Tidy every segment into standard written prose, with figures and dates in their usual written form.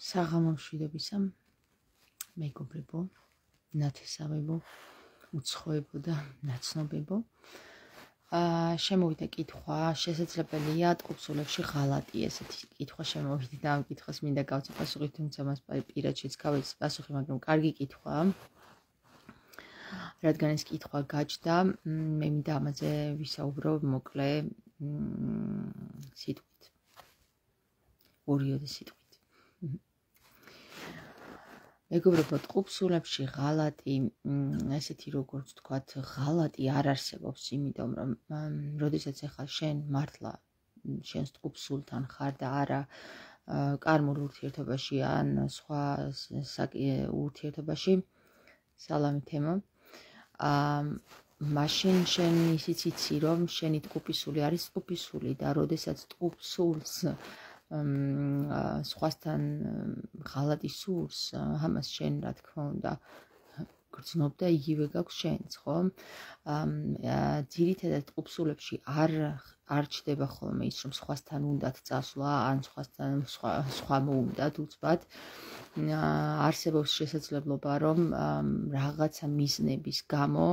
საღამომშვიდობისა მეგობრებო, ნათესავებო, უცხოებო და ნაცნობებო. შემოვიდა კითხვა, შესაძლებელია ტყუპსულებში ღალატი, ესეთი კითხვა შემოვიდა და ამ კითხვას მინდა გავცე პასუხი, თუმცა მას პირადშიც გავეცი პასუხი, მაგრამ კარგი კითხვაა. რადგან ეს კითხვა გაჩნდა, მე მინდა ამაზე ვისაუბრო მოკლე სიტყვით. ორიოდე სიტყვით. მეგობრებო, ტყუპსულებში ღალატი, ესეთი როგორც თქვათ, ღალატი არ არსებობს, იმიტომ რომ როდესაც ახლა შენ მართლა შენს ტყუპსულთან ხარ და არა კარმულ ურთიერთობაში ან სხვა ურთიერთობაში, სალამი თემო, მაშინ შენ ისიც იცი, რომ შენი ტყუპისული არის ტყუპისული და როდესაც ტყუპსულს სხვასთან ღალატი სურს, ამას შენ რა თქმა უნდა გრძნობ და იგივე გაქვს შენც, ხო? ძირითადად ტყუპსულებში არ ჩდება ხოლმე ის, რომ სხვასთან უნდათ წასვლა, ან სხვა მოუნდათ უცბად. არსებობს შესაძლებლობა, რომ რაღაცა მიზნების გამო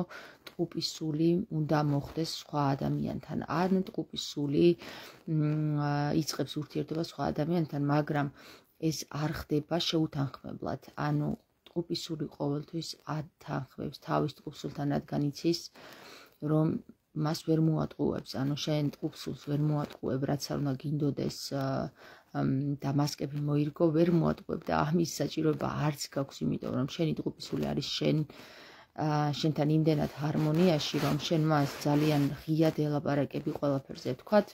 ტყუპისული უნდა მოხდეს სხვა ადამიანთან, ან ტყუპისული იწყებს ურთიერთობას სხვა ადამიანთან, მაგრამ ეს არ ხდება შეუთანხმებლად. ანუ ტყუპისული ყოველთვის ათანხმებს თავის ტყუპსულთან, რადგან იცის, რომ მას ვერ მოატყუებს, ანუ შენ ტყუპსულს ვერ მოატყუებ, რაც არ უნდა გინდოდეს და მასკები მოირგო, ვერ მოატყუებ და ამის საჭიროება არც გაქვს, იმიტომ რომ შენი ტყუპისული არის შენთან იმდენად ჰარმონიაში, რომ შენ მას ძალიან ღიად ელაპარაკები ყველაფერზე, ვთქვათ.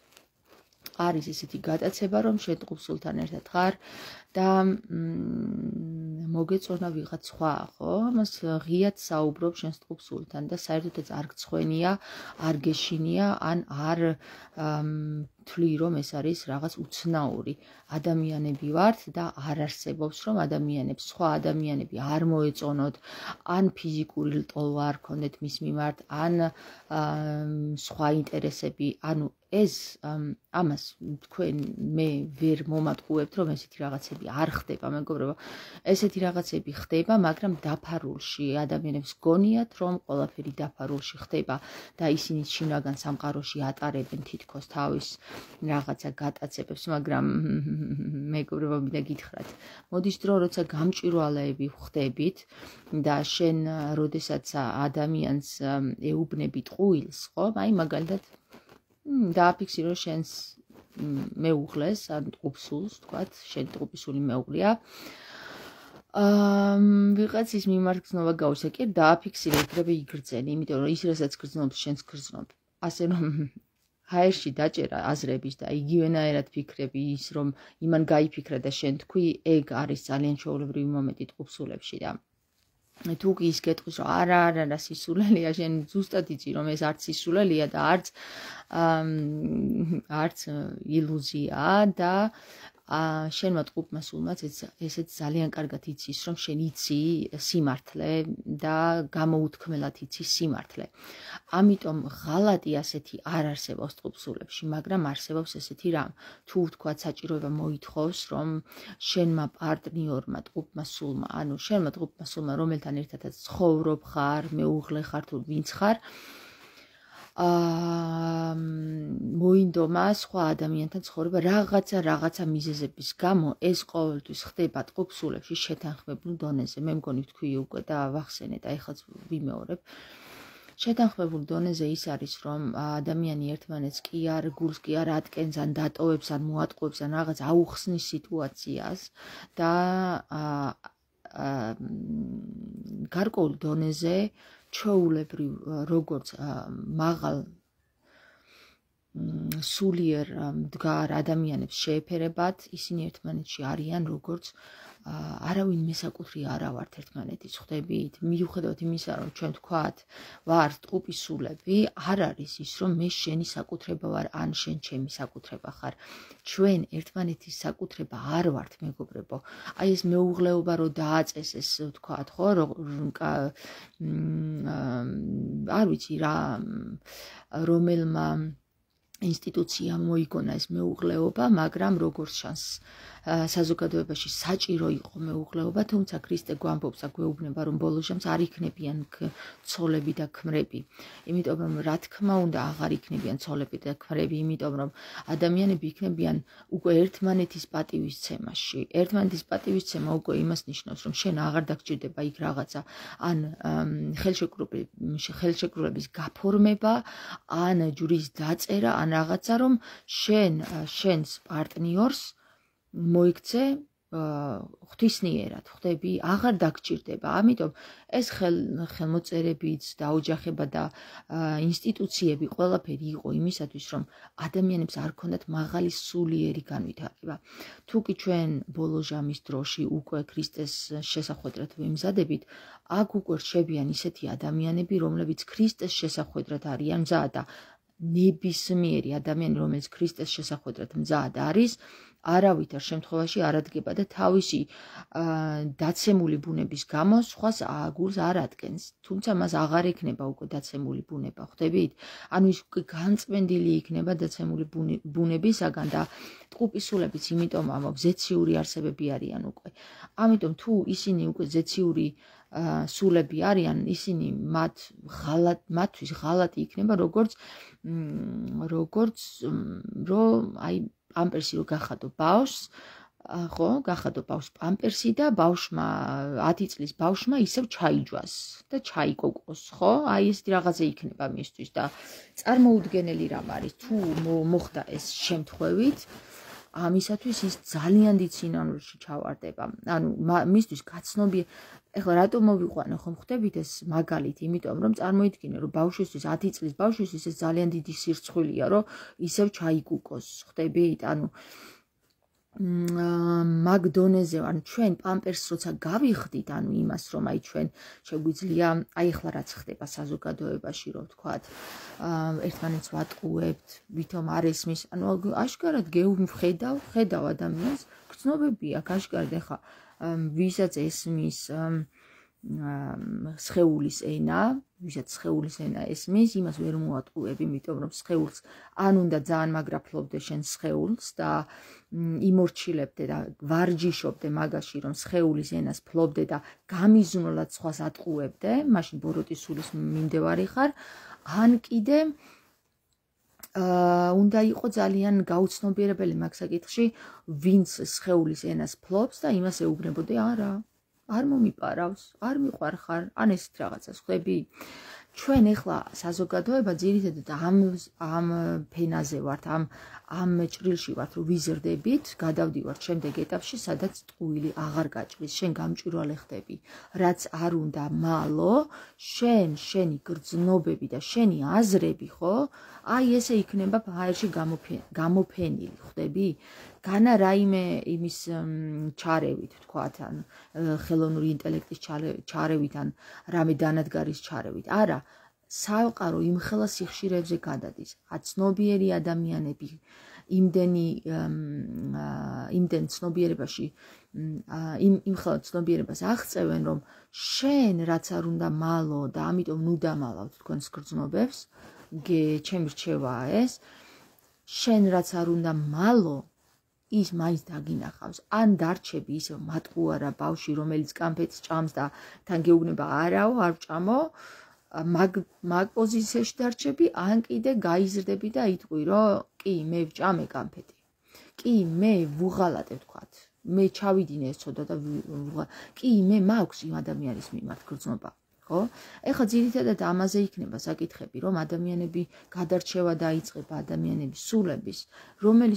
არის ესეთი გატაცება, რომ შენ ტყუპსულთან ერთად ხარ და მოგეწონა ვიღაც სხვა, ხო? ამას ღიად საუბრობ შენს ტყუპსულთან და საერთოდაც არ გცხვენია, არ გეშინია, ან არ თვლი, რომ ეს არის რაღაც უცნაური. ადამიანები ვართ და არ არსებობს, რომ სხვა ადამიანები არ მოეწონოთ, ან ფიზიკური ლტოლვა არ ქონდეთ მის მიმართ, ან სხვა ინტერესები, ანუ ეს ამას თქვენ მე ვერ მომატყუებთ, რომ ესეთი რაღაცები არ ხდება, მეგობრებო. ესეთი რაღაცები ხდება, მაგრამ დაფარულში ადამიანებს გონიათ, რომ ყველაფერი დაფარულში ხდება და ისინი შინაგან სამყაროში ატარებენ თითქოს თავის რაღაცა გატაცებებს, მაგრამ მეგობრებო, მინდა გითხრათ, მოდის დრო, როცა გამჭვირვალეები ხდებით და შენ როდესაც ადამიანს ეუბნები ტყუილს, ხო? აი მაგალითად დააფიქსირო შენს მეუღლეს, ან ტყუპსულს, თქვათ, შენ ტყუპისული მეუღლეა. ვიღაცის მიმართ გრძნობა გაუსა, კი დააფიქსირე, იქნება იგრძენი, იმიტომ რომ ის რასაც გრძნობს, შენც გრძნობ. ასე რომ ჰაერში დაჭერა აზრების და იგივენაერად ფიქრები ის, რომ იმან გაიფიქრა და შენ თქვი, ეგ არის ძალიან ჩვეულებრივი მომენტი ტყუპსულებში და თუ კი ის გეტყვის, რომ არა, სისულელეა, შენ ზუსტად იცი, რომ ეს არც სისულელეა და არც ილუზიაა და შენმა ტყუპმა სულმაც ესეც ძალიან კარგად იცის, რომ შენ იცი სიმართლე და გამოუთქმელად იცი სიმართლე. ამიტომ ღალატი ასეთი არ არსებობს ტყუპსულებში, მაგრამ არსებობს ესეთი რამ. თუ ვთქვათ საჭიროება მოითხოვს, რომ შენმა პარტნიორმა ტყუპმა სულმა, ანუ შენმა ტყუპმა სულმა, რომელთან ერთადაც ცხოვრობ ხარ, მეუღლე ხარ თუ ვინც ხარ, მოინდომა სხვა ადამიანთან ცხოვრება რაღაცა მიზეზების გამო, ეს ყოველთვის ხდება ტყუპსულებში შეთანხმებულ დონეზე. მე მგონი თქვი უკვე და ვახსენეთ, ახლა ვიმეორებ. შეთანხმებულ დონეზე ის არის, რომ ადამიანი ერთმანეთს გულს კი არ ატკენს, ან დატოვებს, ან მოატყუებს, ან რაღაც აუხსნის სიტუაციას და გარკვეულ დონეზე ჩვეულებრივ როგორც მაღალ სულიერ მდგარ ადამიანებს შეეფერებათ, ისინი ერთმანეთში არიან როგორც არავინ მესაკუთრი არა ვართ ერთმანეთის, ხვდებით? მიუხედავად იმისა, რომ ჩვენ თქვათ ვართ ტყუპისულები, არ არის ის, რომ მე შენი საკუთრება ვარ, ან შენ ჩემი საკუთრება ხარ. ჩვენ ერთმანეთის საკუთრება არ ვართ, მეგობრებო. აი ეს მეუღლეობა რო დააწესეს, თქვათ, ხო, არ ვიცი რა, რომელმა ინსტიტუციამ მოიგონა ეს მეუღლეობა, მაგრამ როგორც ჩანს საზოგადოებაში საჭირო იყო მეუღლეობა, თუმცა ქრისტე გვამბობს და გვეუბნება, რომ ბოლო ჟამს არ იქნებიან ცოლები და ქმრები. იმიტომ რომ რა თქმა უნდა აღარ იქნებიან ცოლები და ქმრები, იმიტომ რომ ადამიანები იქნებიან უკვე ერთმანეთის პატივისცემაში. ერთმანეთის პატივისცემა უკვე იმას ნიშნავს, რომ შენ აღარ დაგჭირდება იქ რაღაცა ან ხელშეკრულების გაფორმება, ან ჯვრის დაწერა, ან რაღაცა, რომ შენს პარტნიორს მოიქცე ღვთისნიერად, ხვდები, აღარ დაგჭირდება. ამიტომ ეს ხელმოწერებიც და ოჯახება და ინსტიტუციები ყველაფერი იყო იმისათვის, რომ ადამიანებს არ ქონდათ მაღალი სულიერი განვითარება. თუ კი ჩვენ ბოლო ჟამის დროში უკვე ქრისტეს შესახვედრად ვიმზადებით, აქ უკვე რჩებიან ისეთი ადამიანები, რომლებიც ქრისტეს შესახვედრად არიან მზად და ნებისმიერი ადამიანი, რომელიც ქრისტეს შესახვედრად მზად არის, არავითარ შემთხვევაში არ ადგება და თავისი დაცემული ბუნების გამო სხვას აგულს არ ადგენს. თუმცა მას აღარ ექნება უკვე დაცემული ბუნება, ხვდებით? ანუ ის უკვე განწმენდილი იქნება დაცემული ბუნებისაგან და ტყუპისულებიც იმიტომ ამბობს, ზეციური არსებები არიან უკვე. ამიტომ თუ ისინი უკვე ზეციური სულები არიან, ისინი მათთვის ღალატი იქნება, როგორც რომ აი პამპერსი რო გახადო ბავშვს, ხო, გახადო ბავშვს პამპერსი და ბავშვმა 10 წლის ბავშვმა ისევ ჩაიჯვას და ჩაიკოკოს, ხო? აი ესეთი რაღაცა იქნება მისთვის და წარმოუდგენელი რამ არის, თუ მოხდა ეს შემთხვევით, ამისათვის ის ძალიან დიდ სინანულში ჩავარდება. ანუ მისთვის გაცნობი ეხლა რატომ მოვიყვანე ხომ ხვდებით ეს მაგალითი, იმიტომ რომ წარმოიდგინე რომ ბავშვისთვის 10 წლის ბავშვისთვის ეს ძალიან დიდი სირცხვილია, რომ ისევ ჩაიგუკოს, ხვდებით? ანუ მაგ დონეზე, ანუ ჩვენ პამპერსს როცა გავიხდით, ანუ იმას რომ აი ჩვენ შეგვიძლია, აი ახლა რაც ხდება საზოგადოებაში, რომ ვთქვათ, ერთმანეთს ვატყუებთ, ვითომ არ ესმის, ანუ აშკარად ხედავ ადამიანს, გრძნობები აქვს აშკარად ეხლა ვისაც ესმის სხეულის ენა, ვისაც სხეულის ენა ესმის, იმას ვერ მოატყუებ, იმიტომ რომ სხეულს ან უნდა ძალიან მაგრა ფლობდე შენ სხეულს და იმორჩილებდე და ვარჯიშობდე მაგაში, რომ სხეულის ენას ფლობდე და გამიზნულად სხვას ატყუებდე, მაშინ ბოროტის სულის მიმდევარი ხარ, ან კიდე უნდა იყო ძალიან გაუცნობიერებელი მაგ საკითხში, ვინც სხეულის ენას ფლობს და იმას ეუბნებოდი, არა, არ მომიპარავს, არ მიყვარხარ, ან ესეთ რაღაცას ხვდები? ჩვენ ეხლა საზოგადოება ძირითადად ამ ფენაზე ვართ, ამ ჭრილში ვართ, რომ ვიზრდებით, გადავდივართ შემდეგ ეტაპში, სადაც ტყუილი აღარ გაჭრის, შენ გამჭვირვალე ხდები, რაც არ უნდა მალო, შენი გრძნობები და შენი აზრები, ხო? აი ესე იქნება ჰაერში გამოფენილი, ხვდები? განა რაიმე იმის ჩარევით, ვთქვათ, ან ხელოვნური ინტელექტის ჩარევით, ან რამე დანადგარის ჩარევით. არა, საყარო იმხელა სიხშირეებზე გადადის. აცნობიერი ადამიანები იმდენ ცნობიერებაში იმხელა ცნობიერებას აღწევენ, რომ შენ რაც არ უნდა მალო და ამიტომ ნუ დამალავთ თქვენს გრძნობებს, ჩემი რჩევაა ეს, შენ რაც არ უნდა მალო, ის მაინც დაგინახავს, ან დარჩები ისევ მატყუარა ბავში, რომელიც კამფეტს ჭამს და თან გეუბნება არაო, არ ვჭამო, მაგ პოზიციაში დარჩები, ან კიდე გაიზრდები და იტყვი, რომ კი, მე ვჭამე კამფეტი. კი, მე ვუღალატე, ვთქვათ. მე ჩავიდინე ეს ცოტა და კი, მე მაქვს იმ ადამიანის მიმართ გრძნობა. ხო? ეხლა ძირითადად ამაზე იქნება საკითხები, რომ ადამიანები გადარჩევა დაიწყება ადამიანების სულების, რომელი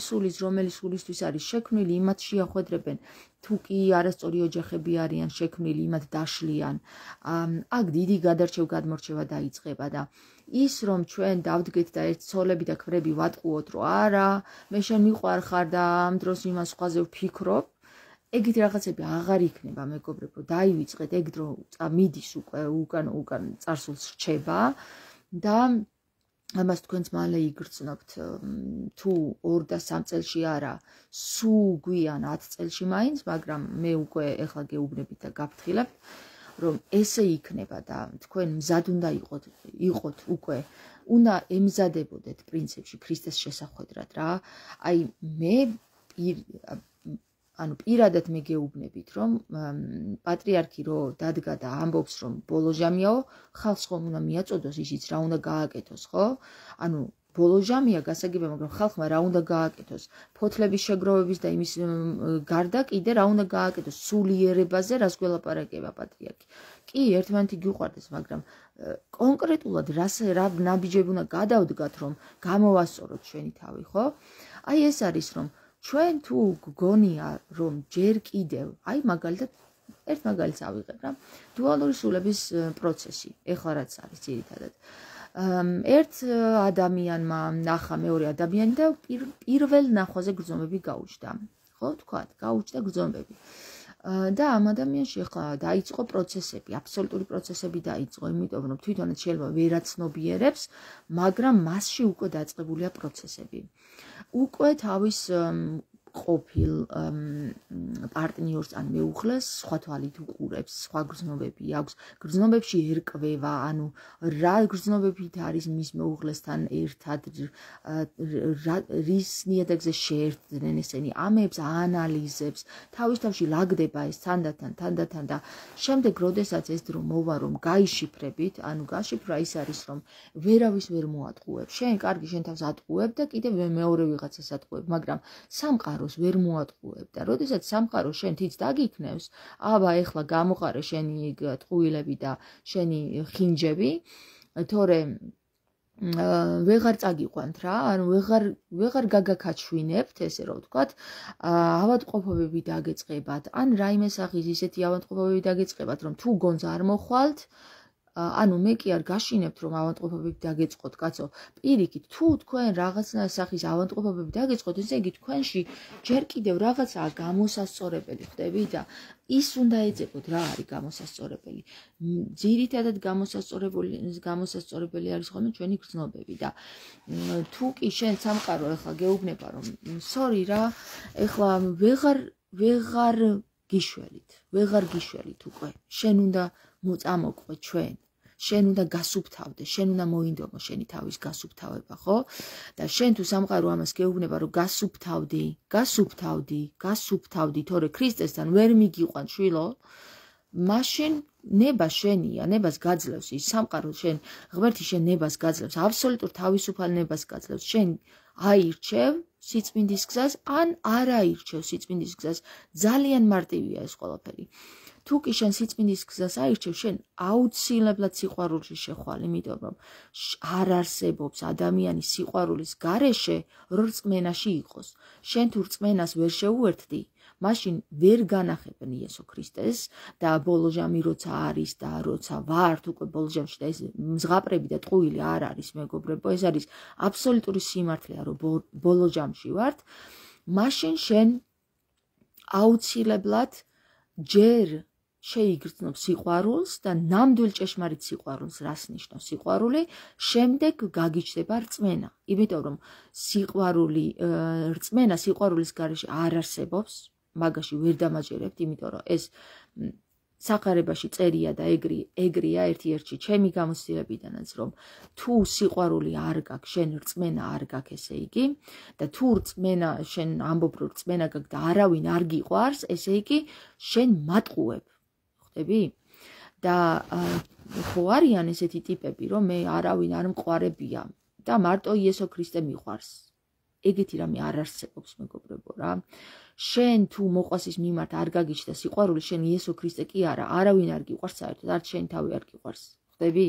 სულისთვის არის შექმნილი, იმათ შეახვედრებენ, თუ კი არასწორი ოჯახები არიან შექმნილი, იმათ დაშლიან. აქ დიდი გადმორჩევა დაიწყება და ის რომ ჩვენ დავდგეთ და ერთ ცოლები და ქმრები ვატყუოთ, რომ არა, მე შენ მიყვარხარ და ამ დროს იმას სხვაზე ვფიქრობ, ეგეთი რაღაცები აღარ იქნება, მეგობრებო, დაივიწყეთ ეგ დრო მიდის უკვე უკან წარსულს რჩება და ამას თქვენც მალე იგრძნობთ, თუ 2 და 3 წელში არა, სულ გვიან 10 წელში მაინც, მაგრამ მე უკვე ეხლა გეუბნებით და გაფრთხილებთ, რომ ესე იქნება და თქვენ მზად უნდა იყოთ უკვე უნდა ემზადებოდეთ პრინციპში ქრისტეს შესახვედრად რა. აი მე პირადად მე გეუბნებით, რომ პატრიარქი რო დადგა და ამბობს, რომ ბოლო ჟამიაო, ხალხს ხომ უნდა მიაწოდოს ისიც რა უნდა გააკეთოს, ხო? ბოლო ჟამია გასაგებია, მაგრამ ხალხმა რა უნდა გააკეთოს? ფოთლების შეგროვების და იმის გარდა კიდე რა უნდა გააკეთოს? სულიერებაზე რას გველაპარაკება პატრიარქი? კი, ერთმანეთი გიყვარდეს, მაგრამ კონკრეტულად რა ნაბიჯები უნდა გადავდგათ, რომ გამოვასწოროთ ჩვენი თავი, ხო? აი ეს არის, რომ ჩვენ თუ გგონია, რომ ჯერ კიდევ, აი მაგალითად ერთ მაგალითს ავიღებ რა, დუალური სულების პროცესი, ეხლა რაც არის ძირითადად. ერთ ადამიანმა ნახა მეორე ადამიანი და პირველ ნახვაზე გრძნობები გაუჩნდა. ხო, თქვათ, გაუჩნდა გრძნობები. და ამ ადამიანში ახლა დაიწყო პროცესები, აბსოლუტური პროცესები დაიწყო, იმიტომ რომ თვითონაც შეიძლება ვერაცნობიერებს, მაგრამ მასში უკვე დაწყებულია პროცესები. უკვე თავის ყოფილ პარტნიორს ან მეუღლეს სხვა თვალით უყურებს, სხვა გრძნობები აქვს, გრძნობებში ერკვევა, ანუ რა გრძნობებით არის მის მეუღლესთან ერთად, რის ნიადაგზე შეერთდნენ ესენი, ამებს აანალიზებს, თავის თავში ლაგდება ეს თანდათან და შემდეგ როდესაც ეს დრო მოვა, რომ გაიშიფრებით, ანუ გაშიფრა ის არის, რომ ვერავის ვერ მოატყუებ, შენ კარგი შენ თავს ატყუებ და კიდევ მეორე ვიღაცას ატყუებ, მაგრამ სამყაროს ვერ მოატყუებ და როდესაც სამყარო შენ თიც დაგიქნევს, აბა ეხლა გამოყარე შენი ტყუილები და შენი ხინჯები, თორემ ვეღარ წაგიყვანთ რა, ანუ ვეღარ გაგაქაჩვინებთ, ესე რომ ვთქვათ, ავადმყოფობები დაგეწყებათ, ან რაიმე სახის ისეთი ავადმყოფობები დაგეწყებათ, რომ თუ გონს არ მოხვალთ, ანუ მე კი არ გაშინებთ, რომ ავადმყოფობები დაგეწყოთ, კაცო, პირიქით, თუ თქვენ რაღაცა სახის ავადმყოფობები დაგეწყოთ, ესე იგი თქვენში ჯერ კიდევ რაღაცაა გამოსასწორებელი, ხდები და ის უნდა ეძებოთ, რა არის გამოსასწორებელი. ძირითადად გამოსასწორებელი არის ხოლმე ჩვენი გრძნობები და თუ კი შენ სამყარო ეხლა გეუბნება, რომ სორი რა, ეხლა ვეღარ გიშველით უკვე. შენ უნდა მოწამოყვე ჩვენ. შენ უნდა გასუფთავდე, შენ უნდა მოინდომო შენი თავის გასუფთავება, ხო? და შენ თუ სამყარო ამას გეუბნება, რომ გასუფთავდი, თორე ქრისტესთან ვერ მიგიყვან შვილო, მაშინ ნება შენია, ნებას გაძლევს ის სამყარო შენ, ღმერთი შენ ნებას გაძლევს, აბსოლუტურ თავისუფალ ნებას გაძლევს. შენ აირჩევ სიწმინდის გზას, ან არ აირჩევ სიწმინდის გზას. ძალიან მარტივია ეს ყველაფერი. თუ კი შენ სიწმინდის გზას აირჩევ, შენ აუცილებლად სიყვარულში შეხვალ, იმიტომ რომ არ არსებობს ადამიანის სიყვარულის გარეშე, რომ რწმენაში იყოს. შენ თუ რწმენას ვერ შეუერთდი, მაშინ ვერ განახებენ იესო ქრისტეს და ბოლო ჟამი როცა არის და როცა ვართ უკვე ბოლო ჟამში და ეს მზღაპრები და ტყუილი არ არის მეგობრებო, ეს არის აბსოლუტური სიმართლეა, რომ ბოლო ჟამში ვართ, მაშინ შენ აუცილებლად ჯერ შეიგრძნობ სიყვარულს და ნამდვილ ჭეშმარიტ სიყვარულს, რას ნიშნავს სიყვარული, შემდეგ გაგიჩნდება რწმენა. იმიტომ რომ რწმენა სიყვარულის გარეშე არ არსებობს, მაგაში ვერ დამაჯერებთ, იმიტომ რომ ეს სახარებაში წერია და ეგრია ერთ-ერთი ჩემი გამოცდილებიდანაც, რომ თუ სიყვარული არ გაქვს, შენ რწმენა არ გაქვს, ესე იგი, და თუ რწმენა შენ ამბობ რომ რწმენა გაქვს და არავინ არ გიყვარს, ესე იგი შენ მატყუებ. ხვდები? და ხო არიან ესეთი ტიპები, რომ მე არავინ არ მყარებია და მარტო იესო ქრისტე მიყვარს. ეგეთი რამე არ არსებობს, მეგობრებო რა. შენ თუ მოყვასის მიმართ არ გაგიჩნდა სიყვარული, შენ იესო ქრისტე კი არა, არავინ არ გიყვარს საერთოდ, არც შენი თავი არ გიყვარს. ხვდები?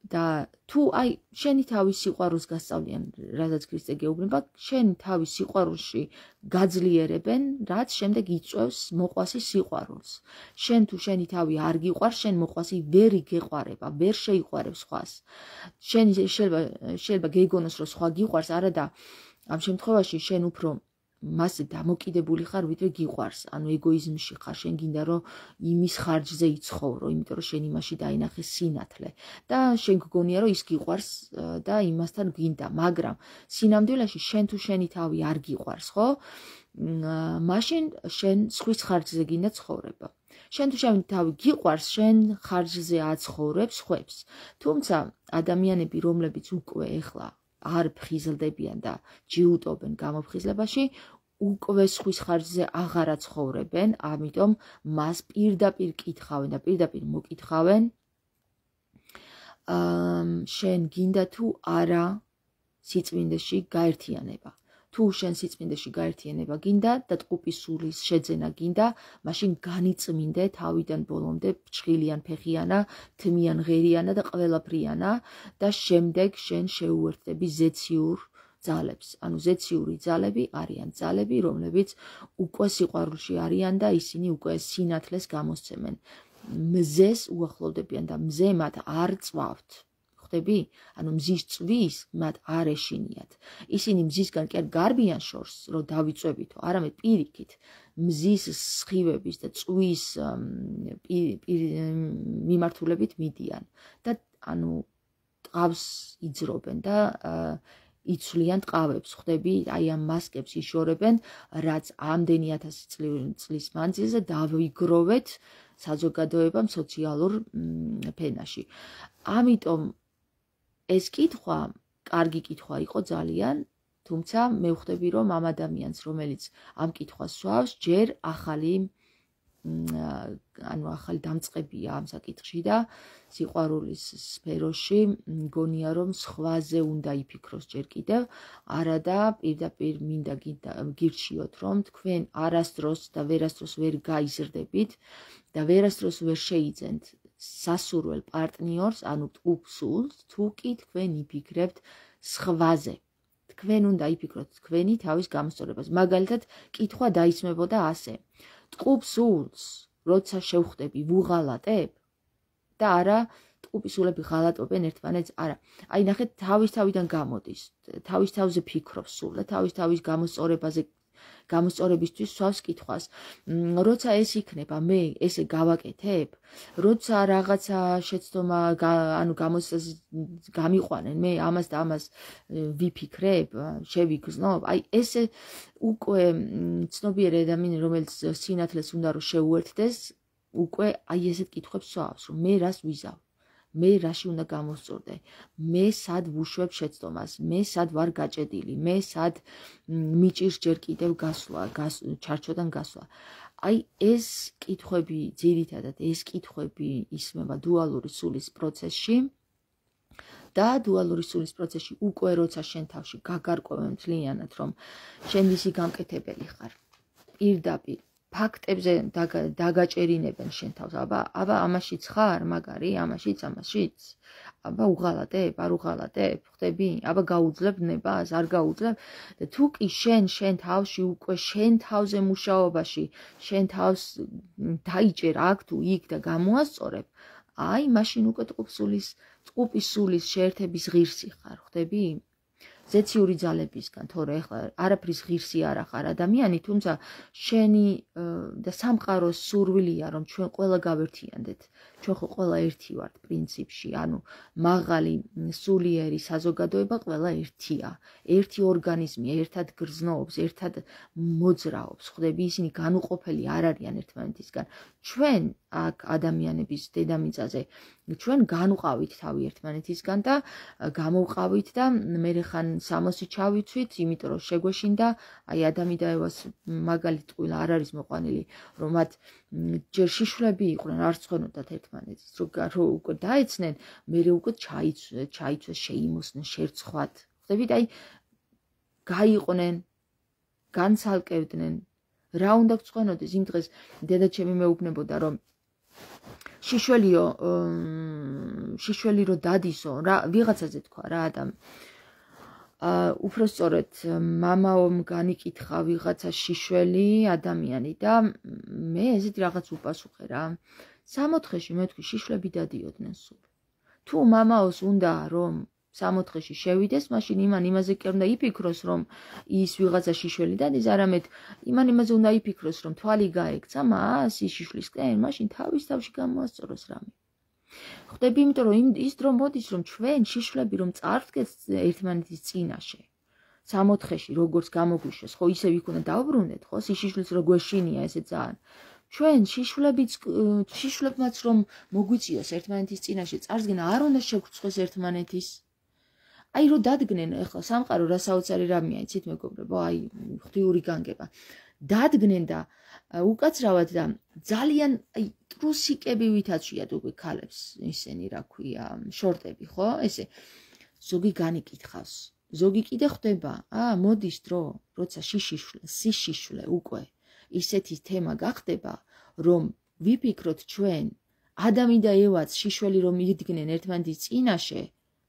და თუ აი შენი თავის სიყვარულს გასწავლიან, რადგან ქრისტე გეუბნება, შენ თავის სიყვარულში გაძლიერებენ, რაც შემდეგ იწვევს მოყვასის სიყვარულს. შენ თუ შენი თავი არ გიყვარს, შენ მოყვასი ვერ იგეყვარება, ვერ შეიყვარებს სხვას. შენ შეიძლება გეგონოს, რომ სხვა გიყვარს, არა და ამ შემთხვევაში შენ უფრო მასზე დამოკიდებული ხარ, ვიდრე გიყვარს, ანუ ეგოიზმში ხარ, შენ გინდა რომ იმის ხარჯზე იცხოვრო, იმიტომ რომ შენ იმაში დაინახე სინათლე და შენ გგონია რომ ის გიყვარს და იმასთან გინდა, მაგრამ სინამდვილეში შენ თუ შენი თავი არ გიყვარს, ხო? მაშინ შენ სხვის ხარჯზე გინდა ცხოვრება. შენ თუ შენი თავი გიყვარს, შენ ხარჯზე აცხოვრებ სხვებს. თუმცა ადამიანები, რომლებიც უკვე ეხლა არ ფხიზლდებიან და ჯიუტობენ გამოფხიზლებაში, უკვე სხვის ხარჯზე აღარ აცხოვრებენ, ამიტომ მას პირდაპირ კითხავენ და პირდაპირ მოკითხავენ, შენ გინდა თუ არა სიწმინდეში გაერთიანება. თუ შენ სიწმინდეში გაერთიანება გინდა და ტყუპის სულის შეძენა გინდა, მაშინ განიწმინდე თავიდან ბოლომდე ფჩხილიან ფეხიანა, თმიან ღერიანა და ყველაფრიანა და შემდეგ შენ შეუერთდები ზეციურ ძალებს. ანუ ზეციური ძალები არიან ძალები, რომლებიც უკვე სიყვარულში არიან და ისინი უკვე სინათლეს გამოსცემენ. მზეს უახლოვდებიან და მზე მათ არ წვავთ. ხდები? ანუ მზის წვის მათ არ ეშინიათ. ისინი მზისგან კი არ გარბიან შორს, რომ დავიწვევითო, არამედ პირიქით, მზის სხივების და წვის მიმართულებით მიდიან და ანუ ტყავს იძრობენ და იცვლიან ტყავებს, ხდები? აი ამ მასკებს იშორებენ, რაც ამდენი 1000 წლის მანძილზე დავიგროვეთ საზოგადოებამ სოციალურ ფენაში. ამიტომ ეს კითხვა, კარგი კითხვა იყო ძალიან, თუმცა მე ვხვდები, რომ ამ ადამიანს, რომელიც ამ კითხვას სვავს, ჯერ ახალი დამწყებია ამ საკითხში და სიყვარულის სფეროში მგონია, რომ სხვაზე უნდა იფიქროს ჯერ კიდევ, არადა პირდაპირ მინდა გირჩიოთ, რომ თქვენ არასდროს და ვერასდროს ვერ გაიზრდებით და ვერასდროს ვერ შეიძენთ სასურველ პარტნიორს, ანუ ტყუპსულს, თუ კი თქვენ იფიქრებთ სხვაზე. თქვენ უნდა იფიქროთ თქვენი თავის გამოსწორებას. მაგალითად, კითხვა დაისმებოდა ასე: ტყუპსულს, როცა შევხვდები, ვუღალატებ და არა ტყუპის სულები ღალატობენ ერთმანეთს, არა. აი ნახეთ, თავის თავიდან გამოდის, თავის თავზე ფიქრობს სულ და თავის თავის გამოსწორებისთვის სვავს კითხვას. როცა ეს იქნება, მე ესე გავაკეთებ, როცა რაღაცა შეცდომა, ანუ გამიყვანენ, მე ამას და ამას ვიფიქრებ, შევიგრძნობ, აი ესე უკვე ცნობიერი ადამიანი, რომელიც სინათლეს უნდა რომ შეუერთდეს, უკვე აი ესეთ კითხვებს სვავს, რომ მე რას ვიზავ. მე რაში უნდა გამოსწორდე, მე სად ვუშვებ შეცდომას, მე სად ვარ გაჭედილი, მე სად მიჭირს ჯერ კიდევ გასვლა, ჩარჩოდან გასვლა. აი ეს კითხვები, ძირითადად ეს კითხვები ისმება დუალური სულის პროცესში და დუალური სულის პროცესში უკვე როცა შენ თავში გაგარკვევენ მთლიანად, რომ შენ ვისი გამკეთებელი ხარ, პირდაპირ ფაქტებზე დაგაჭერინებენ შენ თავს, აბა ამაშიც ხარ, მაგარი, ამაშიც, აბა უღალატებ, არ უღალატებ, ხდები? აბა გაუძლებ ნებას, არ გაუძლებ? და თუ კი შენ თავში უკვე შენ თავზე მუშაობაში, შენ თავს დაიჭერ აქ თუ იქ და გამოასწორებ, აი მაშინ უკვე ტყუპის სულის შეერთების ღირსი ხარ, ხდები? ზეციური ძალებისგან, თორე ეხლა არაფრის ღირსი არ ახარ ადამიანი, თუმცა შენი და სამყაროს სურვილია, რომ ჩვენ ყველა გავერთიანდეთ. ჩვენ ხო ყველა ერთი ვართ პრინციპში, ანუ მაღალი სულიერი საზოგადოება ყველა ერთია. ერთი ორგანიზმია, ერთად გრძნობს, ერთად მოძრაობს, ხდები? ისინი განუყოფელი არ არიან ერთმანეთისგან. ჩვენ აქ ადამიანების დედამიწაზე ჩვენ განვყავით თავი ერთმანეთისგან და გამოვყავით და მე ხან სამოსი ჩავიცვით, იმიტომ რომ შეგვეშინდა, აი ადამი და ევას მაგალითად ტყუილა არ არის მოყვანილი, რომ მათ ჯერ შიშვლები იყვნენ, არ ცხვენოდათ ერთმანეთს, რომ უკვე დაეცნენ, მე უკვე ჩაიცვეს, შეიმოსნენ, შერცხვათ. ხდებით, აი გაიყვნენ, განცალკევდნენ, რა უნდა გცხვენოდეს იმ დღეს დედაჩემი მეუბნებოდა, რომ შიშველი რო დადისო, რა ვიღაცაზე თქვა რა ადამი. უფრო სწორედ მამაომ განიკითხა ვიღაცა შიშველი ადამიანი და მე ესეთი რაღაც უპასუხე რა. 60-ში მე თქვი შიშვლები დადიოდნენ სულ. თუ მამაოს უნდა რომ 6-4-ში შევიდეს, მაშინ იმაზე კი არ უნდა იფიქროს, რომ ის ვიღაცა შიშველი დადის, არამედ იმაზე უნდა იფიქროს, რომ თვალი გაექცა მას ის შიშვლისკენ, მაშინ თავის თავში გამოასწოროს რამე. ხვდები, იმიტომ რომ ის დრო მოდის, რომ ჩვენ შიშვლები რომ წარვდგეთ ერთმანეთის წინაშე. 6-4-ში როგორც გამოგვიშვეს, ხო ისევ იქ უნდა დავბრუნდეთ, ხო სიშიშვლის რო გვეშინია ესე ძალიან. ჩვენ შიშვლებმაც რომ მოგვიწიოს ერთმანეთის წინაშე წარსდგენა არ უნდა შეგვრცხვეს ერთმანეთის. აი რო დადგნენ ახლა სამყარო რა საოცარი რამეა, იცით მეგობრებო, აი ღვთიური განგება. დადგნენ და უკაცრავად და ძალიან აი ტრუსიკები ვითაცვიათ უკვე ქალებს ისინი რა ქვია, შორტები, ხო? ესე ზოგი განიკითხავს. ზოგი კიდე ხვდება, მოდის დრო, როცა სიშიშვლე უკვე ისეთი თემა გახდება, რომ ვიფიქროთ ჩვენ ადამი და ევაც შიშველი რომ იდგნენ ერთმანეთის წინაშე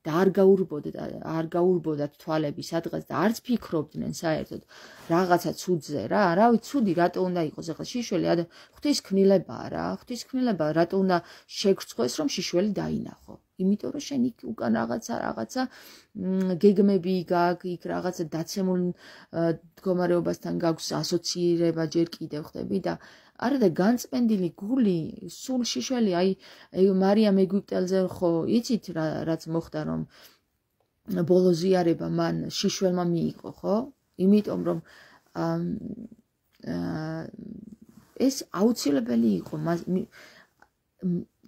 და არ გაურბოდათ თვალები სადღაც და არც ფიქრობდნენ საერთოდ რაღაცა ცუდზე რა, რავი ცუდი რატო უნდა იყოს ახლა შიშველი ღვთისქმნილებაა რა, ღვთისქმნილებაა რატო უნდა შეგრცხვეს რომ შიშველი დაინახო. იმიტომ რომ შენ იქ უკან რაღაცა გეგმები გაქვს, იქ რაღაცა დაცემულ მდგომარეობასთან გაქვს ასოცირება ჯერ კიდევ ხდები და არა და განწმენდილი გული სულ შიშველი აი მარიამ ეგვიპტელზე ხო იცით რაც მოხდა რომ ბოლო ზიარება მან შიშველმა მიიღო ხო? იმიტომ რომ ეს აუცილებელი იყო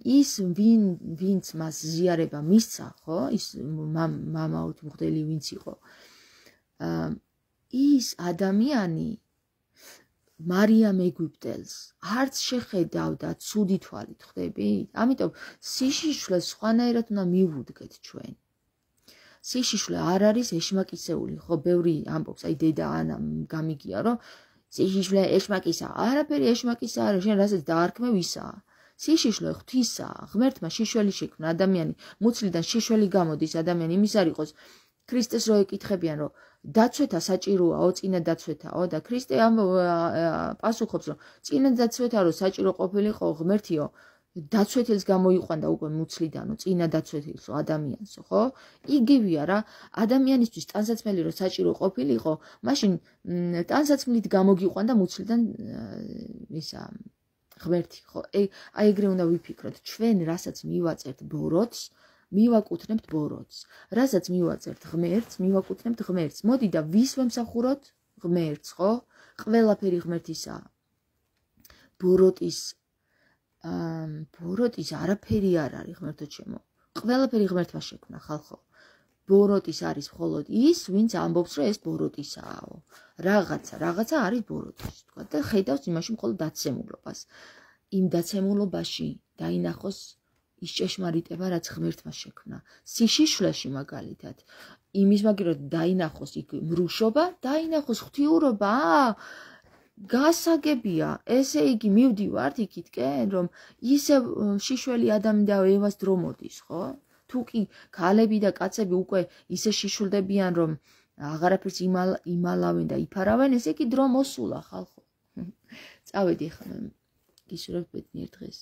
ის ვინც მას ზიარება მისცა, ხო? ის მამაოთ მღვდელი ვინც იყო. ის ადამიანი მარიამ ეგვიპტელს არც შეხედავდა ცუდი თვალით, ხვდები? ამიტომ სიშიშვლეს სხვანაირად უნდა მივუდგეთ ჩვენ. სიშიშვლე არ არის ეშმაკისეული, ხო? ბევრი ამბობს, აი დედა ანა გამიგია, რომ სიშიშვლე ეშმაკისა. არაფერი ეშმაკისა არა, შენ რასაც დაარქმევ ისაა. სიშიშვლე ღვთისაა, ღმერთმა შიშველი შექმნა ადამიანი, მუცლიდან შიშველი გამოდის ადამიანი, იმის არ იყოს ქრისტეს რო ეკითხებიან, რომ დაცვეთა საჭიროაო, წინა დაცვეთაო და ქრისტე პასუხობს, რომ წინა დაცვეთა რო საჭირო ყოფილიყო ღმერთიო, დაცვეთილს გამოიყვანდა უკვე მუცლიდანო, წინა დაცვეთილსო ადამიანსო, ხო? იგივეა რა, ადამიანისთვის ტანსაცმელი რო საჭირო ყოფილიყო, მაშინ ტანსაცმლით გამოგიყვანდა მუცლიდან ისა ღმერთი, ხო? აი ეგრე უნდა ვიფიქროთ, ჩვენ რასაც მივაწერთ ბოროტს, მივაკუთვნებთ ბოროტს. რასაც მივაწერთ ღმერთს, მივაკუთვნებთ ღმერთს. მოდი და ვის ვემსახუროთ? ღმერთს, ხო? ყველაფერი ღმერთისაა. ბოროტის არაფერი არ არის ღმერთო ჩემო. ყველაფერი ღმერთმა შექმნა ხალხო. ბოროტის არის მხოლოდ ის, ვინც ამბობს, რომ ეს ბოროტისაო. რაღაცა არის ბოროტის, თქვა და ხედავს იმაში მხოლოდ დაცემულობას. იმ დაცემულობაში დაინახოს ის ჭეშმარიტება, რაც ღმერთმა შექმნა. სიშიშვლეში მაგალითად, იმის მაგივრად დაინახოს იქ მრუშობა, დაინახოს ღვთიურობა, გასაგებია, ესე იგი მივდივართ იქითკენ, რომ ისევ შიშველი ადამი და ევას დრო მოდის, ხო? თუ კი ქალები და კაცები უკვე ისე შიშვლდებიან, რომ აღარაფერს იმალავენ და იფარავენ, ესე იგი დრო მოსულა ხალხო. წავედი ახლა გისურვებთ ბედნიერ დღეს.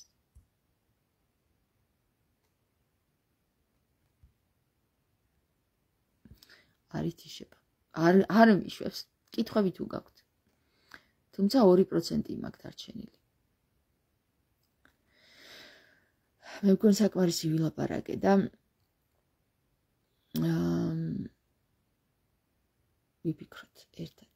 არის თიშება. არ მიშვებს. კითხვები თუ გაქვთ. თუმცა 2% მაქვს დარჩენილი. მე მგონი საკმარისი ვილაპარაკე და ვიფიქროთ ერთად.